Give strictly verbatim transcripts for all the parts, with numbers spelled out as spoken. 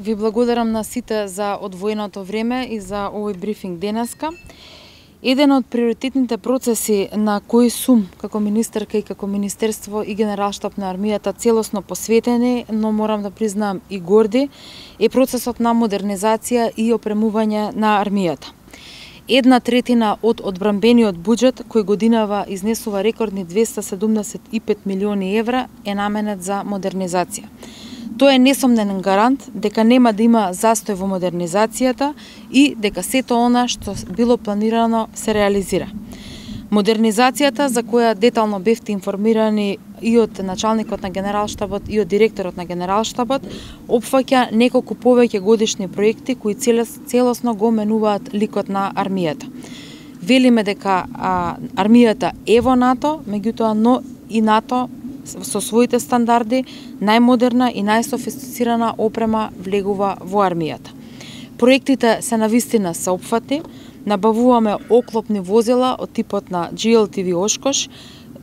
Ви благодарам на сите за одвоеното време и за овој брифинг денеска. Еден од приоритетните процеси на кои сум како министерка и како Министерство и Генералштаб на армијата целосно посветени, но морам да признам и горди, е процесот на модернизација и опремување на армијата. Една третина од одбранбениот буџет, кој годинава изнесува рекордни двеста седумдесет и пет милиони евра, е наменет за модернизација. Тоа е несомнен гарант дека нема да има застој во модернизацијата и дека сето она што било планирано се реализира. Модернизацијата, за која детално бевте информирани и од началникот на Генералштабот и од директорот на Генералштабот, опфаќа неколку повеќе годишни проекти кои целосно го менуваат ликот на армијата. Велиме дека а, армијата е во НАТО, меѓутоа но и НАТО со своите стандарди, најмодерна и најсофистицирана опрема влегува во армијата. Проектите се навистина сеопфатни, набавуваме оклопни возила од типот на Джи Ел Ти Ви Ошкош,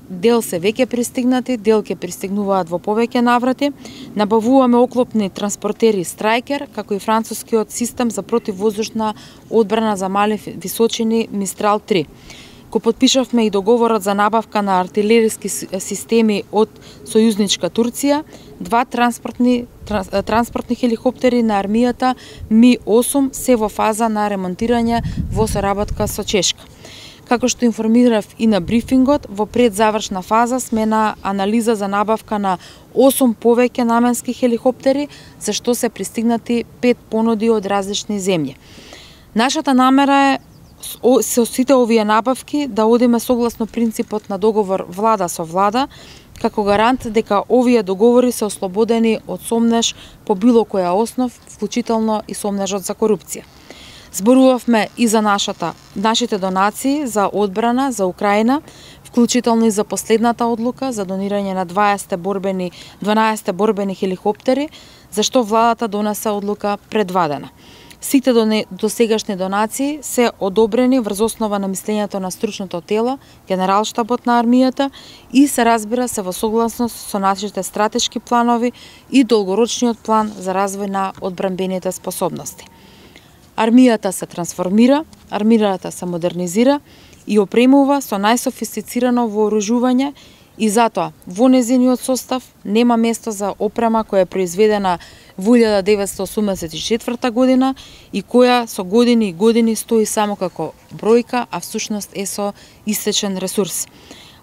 дел се веќе пристигнати, дел ќе пристигнуваат во повеќе наврати, набавуваме оклопни транспортери Страйкер, како и францускиот систем за противвоздушна одбрана за мали височини Мистрал три. Го потпишавме и договорот за набавка на артилериски системи од сојузничка Турција, два транспортни, транс, транспортни хеликоптери на армијата Ми осум се во фаза на ремонтирање во соработка со Чешка. Како што информирав и на брифингот, во предзавршна фаза сме на анализа за набавка на осум повеќе наменски хеликоптери, за што се пристигнати пет понуди од различни земји. Нашата намера е со сите овие набавки да одиме согласно принципот на договор влада со влада, како гарант дека овие договори се ослободени од сомнеж по било која основ, вклучително и сомнежот за корупција. Зборувавме и за нашата, нашите донации за одбрана за Украина, вклучително и за последната одлука за донирање на дваесет борбени, дванаесет борбени хеликоптери, за што владата донесе одлука предвадена. Сите досегашни донации се одобрени врз основа на мислењето на стручното тело, Генералштабот на армијата, и се разбира се во согласност со нашите стратешки планови и долгорочниот план за развој на одбранбените способности. Армијата се трансформира, армијата се модернизира и опремува со најсофистицирано вооружување и затоа во незиниот состав нема место за опрема која е произведена во илјада деветстотини осумдесет и четврта година и која со години и години стои само како бројка, а всушност е со истечен ресурс.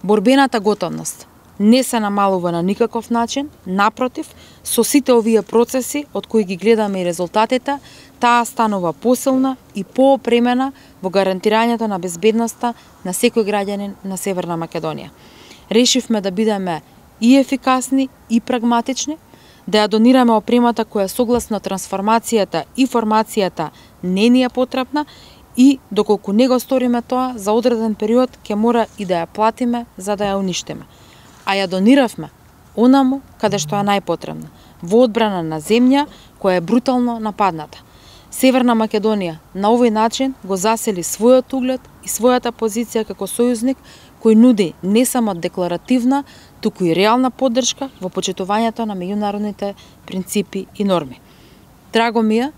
Борбената готовност не се намалува на никаков начин, напротив, со сите овие процеси од кои ги гледаме и резултатите, таа станува посилна и поопремена во гарантирањето на безбедноста на секој граѓанин на Северна Македонија. Решивме да бидеме и ефикасни и прагматични, да ја донираме опремата која согласно трансформацијата и формацијата не ни е потребна и доколку не го сториме тоа, за одреден период ќе мора и да ја платиме за да ја уништиме. А ја дониравме онаму каде што е најпотребна, во одбрана на земја која е брутално нападната. Северна Македонија на овој начин го засели својот углед и својата позиција како сојузник кој нуди не само декларативна, туку и реална поддршка во почитувањето на меѓународните принципи и норми. Драго ми е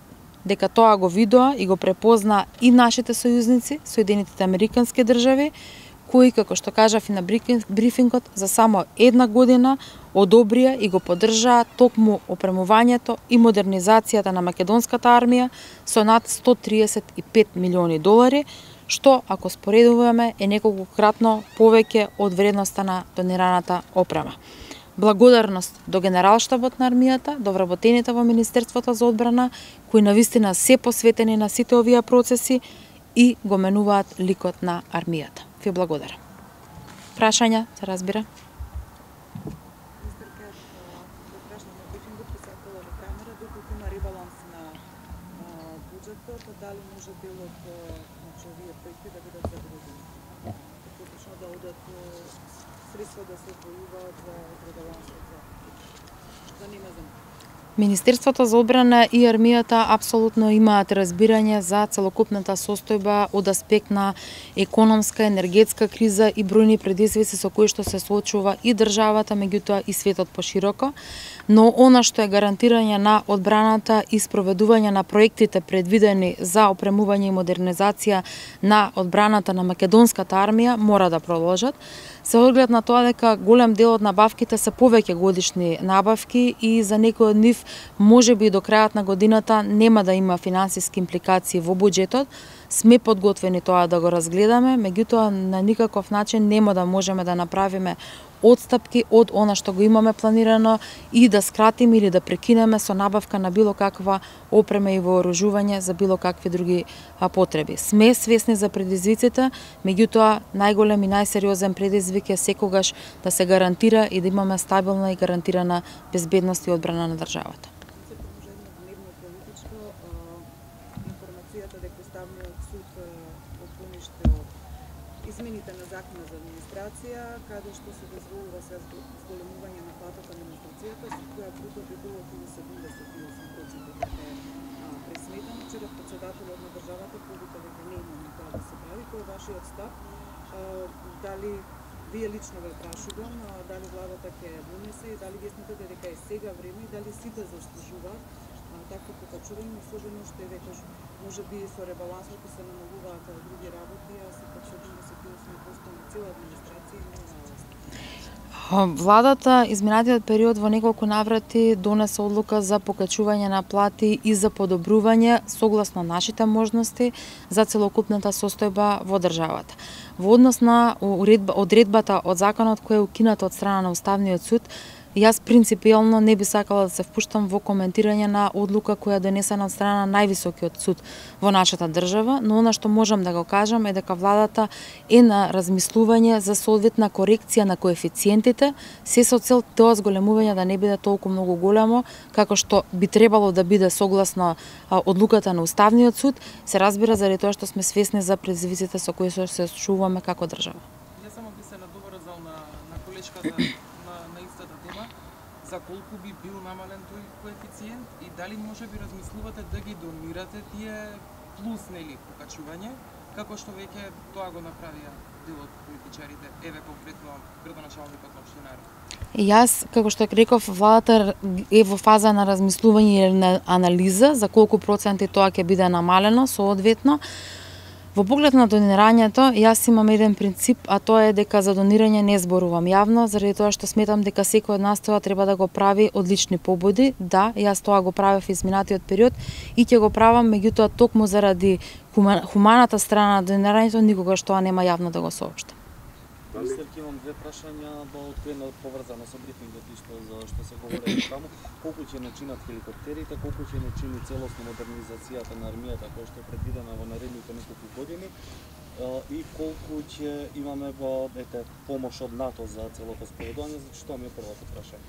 дека тоа го видоа и го препозна и нашите сојузници, Соединетите Американски држави, кои, како што кажав и на брифингот, за само една година одобрија и го поддржаа токму опремувањето и модернизацијата на македонската армија со над сто триесет и пет милиони долари, што, ако споредуваме, е неколкократно повеќе од вредноста на донираната опрема. Благодарност до Генералштабот на армијата, до вработените во Министерството за одбрана, кои навистина се посветени на сите овие процеси и го менуваат ликот на армијата. Ви благодарам. Прашања, се разбира? Дали може дел од овие проекти да бидат загрузени? Поточно да одат средства да се одвојуваат за одредован за за нема земја. Министерството за одбрана и армијата апсолутно имаат разбирање за целокупната состојба од аспект на економска, енергетска криза и бројни предизвици со кои што се соочува и државата, меѓутоа и светот пошироко. Но она што е гарантирање на одбраната и спроведување на проектите предвидени за опремување и модернизација на одбраната на македонската армија мора да продолжат. Се оглед на тоа дека голем дел од набавките се повеќе годишни набавки и за некои од нив можеби до крајот на годината нема да има финансиски импликации во буџетот, сме подготвени тоа да го разгледаме, меѓутоа на никаков начин нема да можеме да направиме одстапки од она што го имаме планирано и да скратиме или да прекинеме со набавка на било каква опрема и вооружување за било какви други потреби. Сме свесни за предизвиците, меѓутоа најголем и најсериозен предизвик е секогаш да се гарантира и да имаме стабилна и гарантирана безбедност и одбрана на државата. Информацијата дека Уставниот суд отклониште од измените на Законот за администрација, каде што се дозволува се зголемување на платата на администрацијата, со која bruto би било околу седумдесет и осум проценти дека е пресметано. Вчера председателот на државата повика дека не има тоа да се прави. Кој е вашиот став? Дали вие лично ве прашувам, дали владата ќе донесе и дали вие смятате дека е сега време и дали сите заслужуваат такво покачување, особено што е веќе може би со ребалансот се намалуваат други работи, а се пак седумдесет и осум проценти на цела администрација и на власт. Владата изминатиот период во неколку наврати донесе одлука за покачување на плати и за подобрување согласно нашите можности за целокупната состојба во државата. Во однос на одредбата од законот која е укината од страна на Уставниот суд, јас принципиелно не би сакала да се впуштам во коментирање на одлука која е донесена од страна на највисокиот суд во нашата држава, но она што можам да го кажам е дека владата е на размислување за соодветна корекција на коефициентите, се со цел тоа зголемување да не биде толку многу големо, како што би требало да биде согласно одлуката на Уставниот суд, се разбира заради тоа што сме свесни за предизвиците со кои се соочуваме како држава. Јас само би се надоврзал на на колешката за колку би бил намален тој коефициент и дали може би размислувате да ги донирате тие плюс нели покачување, како што веќе тоа го направија дел од политичарите, еве конкретно градоначалникот на општина Ерма. Јас, како што реков, владата е во фаза на размислување или на анализа за колку проценти тоа ќе биде намалено соодветно. Во поглед на донирањето, јас имам еден принцип, а тоа е дека за донирање не зборувам јавно, заради тоа што сметам дека секој од нас тоа треба да го прави од лични побуди. Да, јас тоа го правев изминатиот период и ќе го правам, меѓутоа токму заради хуманата страна на донирањето, никогаш тоа нема јавно да го соопштам. Министерки, имам две прашања, одкрено поврзано со брифингот и што за што се говори таму. Колку ќе начинат хеликоптерите, колку ќе начини целосно модернизацијата на армијата која што е предвидена во наредните неколку години и колку ќе имаме во ете помош од НАТО за целото спроведување, зашто тоа ми е првото прашање.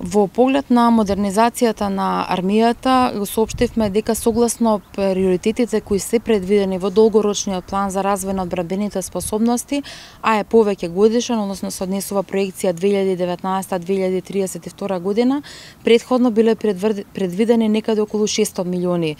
Во поглед на модернизацијата на армијата го соопштивме дека согласно приоритетите кои се предвидени во долгорочниот план за развој на одбранбените способности, а е повеќе годишен, односно се однесува проекција две илјади и деветнаесета до две илјади тридесет и втора година, претходно биле предвидени некаде околу шестстотини милиони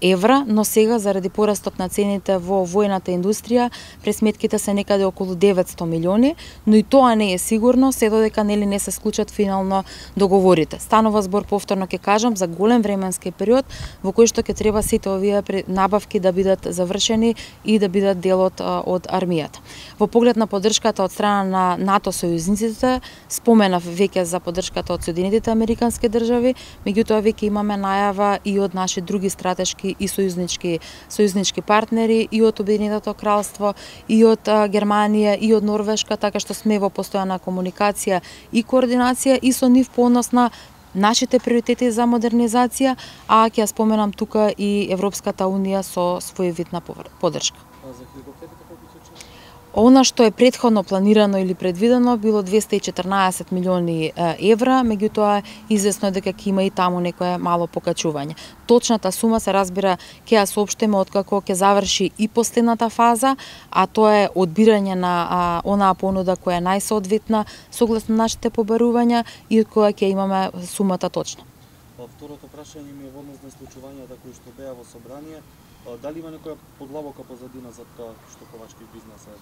евра, но сега заради порастот на цените во војната индустрија, пресметките се некаде околу деветстотини милиони, но и тоа не е сигурно, се додека нели не се склучат финално договорите. Станува збор, повторно ќе кажам, за голем временски период во кој што ќе треба сите овие набавки да бидат завршени и да бидат дел од, од армијата. Во поглед на поддршката од страна на НАТО сојузниците, споменав веќе за поддршката од Соединетите Американски држави, меѓутоа веќе имаме најава и од наши други стратешки и сојузнички сојузнички партнери и од Обединетото кралство, и од Германија, и од Норвешка, така што сме во постојана комуникација и координација и со нив по однос на нашите приоритети за модернизација, а ќе ја споменам тука и Европската унија со свој вид на поддршка. Она што е претходно планирано или предвидено било двесте и четрнаесет милиони евра, меѓутоа известно е дека ќе има и таму некое мало покачување. Точната сума се разбира ќе ја соопштиме откако ќе заврши и последната фаза, а тоа е одбирање на а, онаа понуда која е најсоодветна согласно нашите побарувања и од која ќе имаме сумата точно. Па второто прашање ми е во однос на случувањата кои што беа во собрание, дали има некоја подлабока позадина за тоа што ковачки бизнес е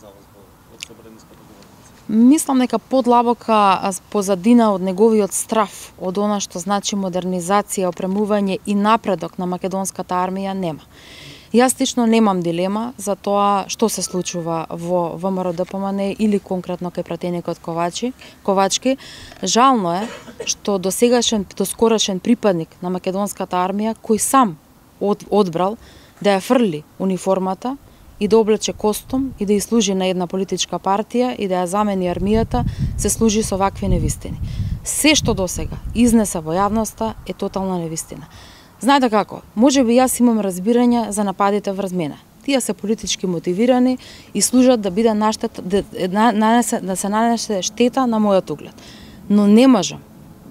за вас од собраниската говорница? Мислам дека подлабока позадина од неговиот страф, од она што значи модернизација, опремување и напредок на македонската армија нема. Јас лично немам дилема за тоа што се случува во ВМРО-ДПМН или конкретно кај пратеникот Ковачи, Ковачки. Жално е што досегашен, доскорошен припадник на македонската армија, кој сам од, одбрал да ја фрли униформата и да облече костум и да ја служи на една политичка партија и да ја замени армијата, се служи со вакви невистини. Се што досега изнеса во јавноста е тотална невистина. Знаете како, може би јас имам разбирање за нападите врз мене. Тие се политички мотивирани и служат да биде наштет, да, нанесе, да се нанесе штета на мојот углед. Но не можам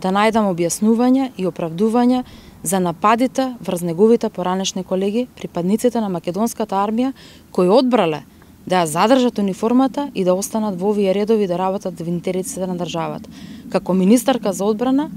да најдам објаснување и оправдување за нападите врз неговите поранешни колеги, припадниците на македонската армија, кои одбрале да ја задржат униформата и да останат во овие редови да работат во интересите на државата. Како министарка за одбрана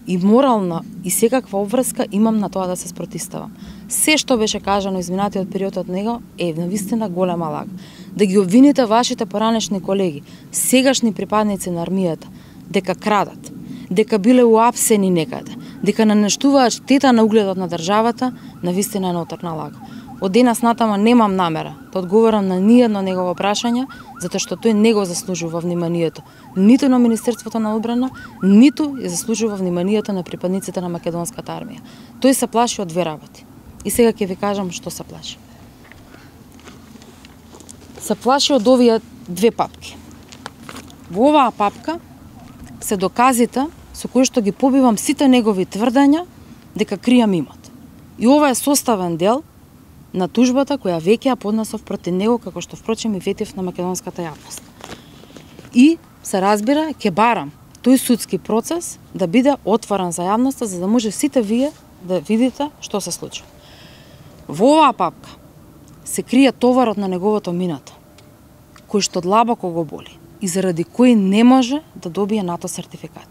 и морална и секаква обврска имам на тоа да се спротивставам. Се што беше кажано изминатиот период од него е навистина голема лага. Да ги обвините вашите поранешни колеги, сегашни припадници на армијата, дека крадат, дека биле уапсени некаде, дека нанештуваат штета на угледот на државата, навистина е ноторна лага. Од денес натама немам намера да одговорам на ниедно негово прашање, затоа што тој не го заслужува вниманието ниту на Министерството на одбрана, ниту ја заслужува вниманието на припадниците на македонската армија. Тој се плаши од две работи. И сега ќе ви кажам што се плаши. Се плаши од овие две папки. Во оваа папка се доказите со кои што ги побивам сите негови тврдења дека кријам имот. И ова е составен дел на тужбата која веќе ја поднесов против него, како што впрочем и ветив на македонската јавност. И се разбира, ќе барам тој судски процес да биде отворен за јавноста, за да може сите вие да видите што се случи. Во оваа папка се крие товарот на неговото минато, кој што длабоко го боли и заради кој не може да добие НАТО сертификат.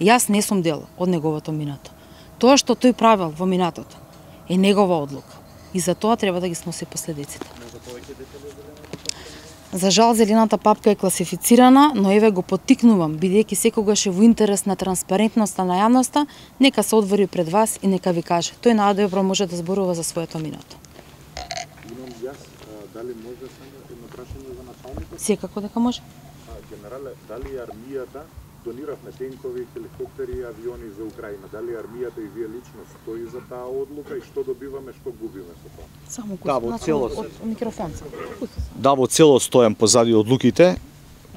Јас не сум дел од неговото минато. Тоа што тој правил во минатото е негова одлука и за тоа треба да ги сноси последиците. За жал, зелената папка е класифицирана, но еве го поттикнувам, бидејќи секогаш е во интерес на транспарентноста на јавноста, нека се одвори пред вас и нека ви каже. Тој најдобро може да зборува за своето минато. Имам јас, дали може само едно прашање за началникот? Секако дека може. Генерале, дали армијата дониравме тенкови, хеликоптери и авиони за Украина? Дали армијата и вие лично стои за таа одлука и што добиваме, што губиме со тоа? Само Да, во целост. од микрофон. Да, во целост стојам позади одлуките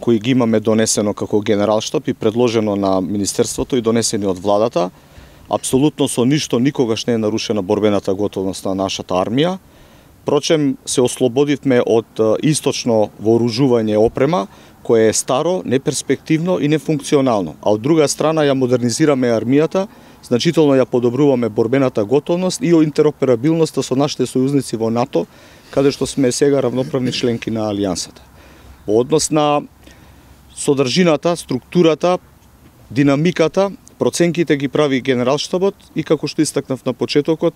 кои ги имаме донесено како генералштаб и предложено на Министерството и донесени од владата. Апсолутно со ништо никогаш не е нарушена борбената готовност на нашата армија. Впрочем, се ослободивме од источно вооружување и опрема, кое е старо, неперспективно и нефункционално. А од друга страна ја модернизираме армијата, значително ја подобруваме борбената готовност и интероперабилноста со нашите сојузници во НАТО, каде што сме сега равноправни членки на Алијансата. Во однос на содржината, структурата, динамиката, проценките ги прави генералштабот и како што истакнав на почетокот,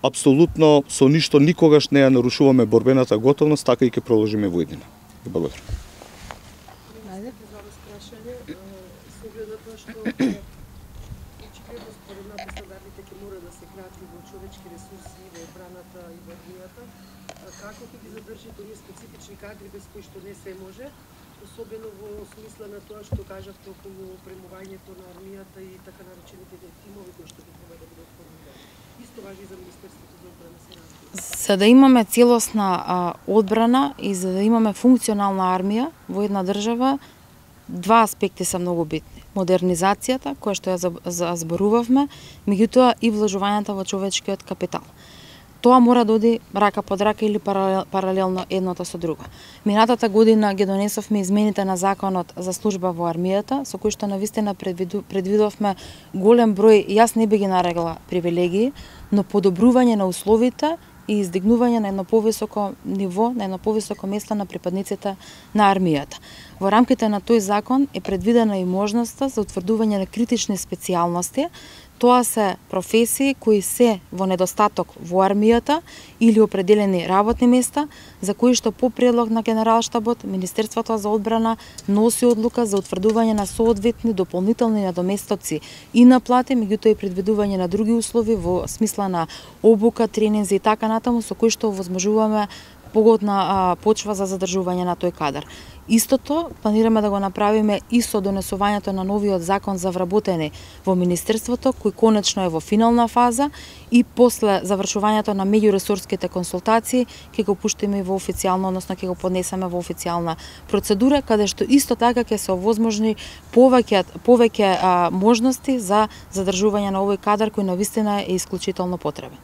апсолутно со ништо никогаш не ја нарушуваме борбената готовност, така и ќе продолжиме во иднина. Благодарам. Како ќе ги задржите оние специфични кадри без кои што не се може, особено во смисла на тоа што кажавте околу опремувањето на армијата и така наречените тимови кои што би треба да бидат формирани. Исто важи за Министерството за одбрана се разбира. За да имаме целосна а, одбрана и за да имаме функционална армија во една држава, два аспекти се многу битни. Модернизацијата, која што ја зборувавме, меѓутоа и вложувањето во човечкиот капитал. Тоа мора да оди рака под рака или паралелно едното со друго. Минатата година ги донесовме измените на законот за служба во армијата, со кои што навистина предвидовме голем број, јас не би ги нарекла привилегии, но подобрување на условите и издигнување на едно повисоко ниво, на едно повисоко место на припадниците на армијата. Во рамките на тој закон е предвидена и можноста за утврдување на критични специјалности, Тоа се професии кои се во недостаток во армијата или определени работни места, за кои што по предлог на Генералштабот, Министерството за одбрана носи одлука за утврдување на соодветни дополнителни надоместоци и на плати, меѓутоа и предвидување на други услови во смисла на обука, тренинзи и така натаму, со кои што овозможуваме погодна а, почва за задржување на тој кадар. Истото планираме да го направиме и со донесувањето на новиот закон за вработени во Министерството, кој конечно е во финална фаза, и после завршувањето на меѓуресорските консултации ќе го пуштиме во официјално, односно ќе го поднесеме во официјална процедура, каде што исто така ќе се овозможни повеќе повеќе а, можности за задржување на овој кадар кој навистина е исклучително потребен.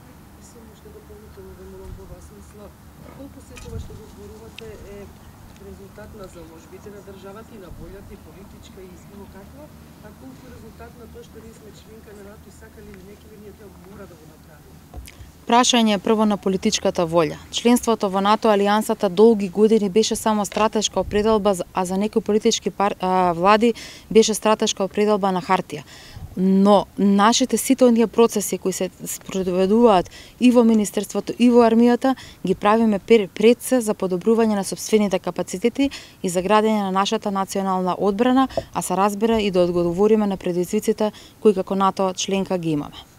На заложбите на државата и на волјата и политичка и било каква, а колку резултат на тоа што ние сме членка на НАТО и сакали или не, ние тоа мора да го направиме. Прашање прво на политичката волја. Членството во НАТО алијансата долги години беше само стратешка определба, а за некои политички пар... а, влади беше стратешка определба на хартија. Но нашите сите оние процеси кои се спроведуваат и во Министерството и во армијата ги правиме пред се за подобрување на сопствените капацитети и за градење на нашата национална одбрана, а се разбира и да одговориме на предизвиците кои како НАТО членка ги имаме.